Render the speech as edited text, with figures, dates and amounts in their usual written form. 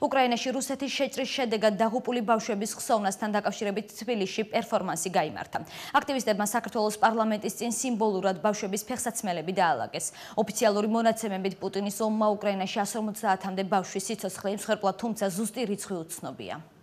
უკრაინაში რუსეთის შეჭრის შედეგად დაღუპული ბავშვების ხსოვნასთან დაკავშირებით თბილისში პერფორმანსი გაიმართა. აქტივისტებმა საქართველოს პარლამენტის წინ სიმბოლურად ბავშვების ფეხსაცმელები დაალაგეს. ოფიციალური მონაცემებით პუტინის ომმა უკრაინაში 150-მდე ბავშვის სიცოცხლე იმსხვერპლა, თუმცა ზუსტი რიცხვი უცნობია.